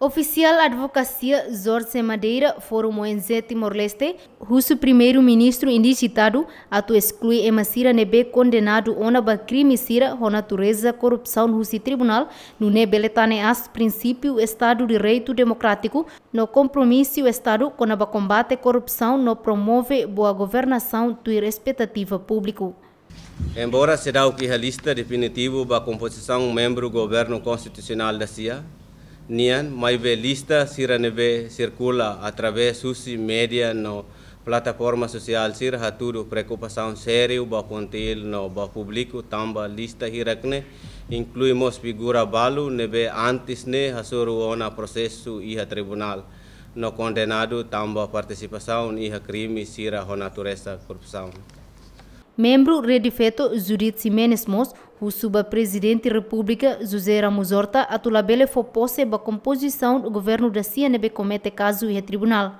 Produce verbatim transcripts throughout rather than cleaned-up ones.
Ofisiál advokasia Jorge Madeira, Fórum O N G Timor-Leste, husu Primeiru-Ministru indijitadu atu esklui ema sira ne'ebé kondenadu ona ba krime sira ho natureza korrupsaun husi tribunál, nune'e bele tane aas prinsípiu Estadu Direitu Demokrátiku no kompromisu Estadu kona-ba kombate korrupsaun no promove boa governasaun tuir espetativa públiku. Embora seidauk iha lista definitivu ba kompozisaun membru Governu Konstitusionál dasia nian, maibé lista sira ne'ebé sirkula através husi média no plataforma sosiál sira hatudu preokupasaun sériu ba FONGTIL no ba públiku, tanba lista hirak-ne'e inklui mós figura balu ne'ebé antes ne'e hasoru ona prosesu iha tribunál no kondenadu tanba partisipasaun iha krime sira ho natureza korrupsaun. Membru Rede Feto, Judith Ximenes mós husu ba Prezidente Repúblika José Ramos Horta atu labele fó pose ba kompozisaun governu dasia ne'ebé komete kazu iha tribunál.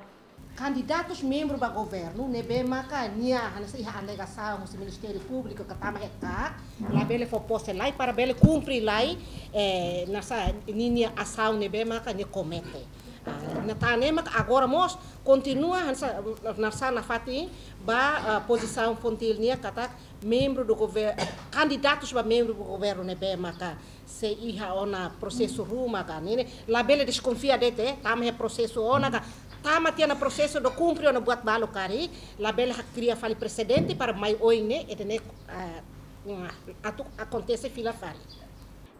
Kandidatus membru ba governu ne'ebé maka nia hanesan iha alegasaun husi Ministériu Públiku ka tama iha KAK, labele fó pose lai para bele kumpre lai, eh, hanesan ninia asaun ne'ebé maka nia komete. Ah, ne'e tan ne'e maka agora mós kontinua hanesan, hanesan nafatin ba, ah, pozisaun FONGTIL nian katak membru do gover-, kandidatus ba membru do governu ne'ebé maka sei iha ona prosesu ruma ka ne'e, labele deskonfia de'it, tama iha prosesu ona ka, tama tiha ona prosesu do kumpre ona buat balu karik, labele hakria fali presedente para mai oin ne'e, ida-ne'e, ah, atu akontese fila fali.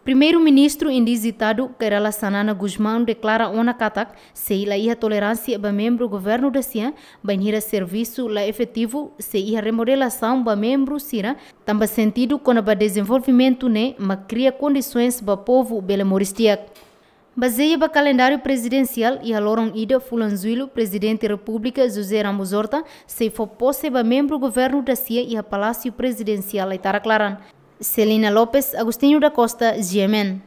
Primeiru-Ministru indijitadu Kay Rala Xanana Gusmão deklara ona katak sei la iha toleránsia ba membru governu dasia bainhira servisu la efetivu, sei iha remodelasaun ba membru sira, tanba sentidu kona-ba dezenvolvimentu ne'e mak kria kondisoens ba povu bele moris di'ak. Bazeia ba kalendáriu prezidensiál, iha loron ida fulan Jullu, Prezidente Repúblika José Ramos Horta sei fó pose ba membru governu dasia iha Palásiu Prezidensiál Aitarak Laran. Celina Lopes, Agostinho da Costa, G M N.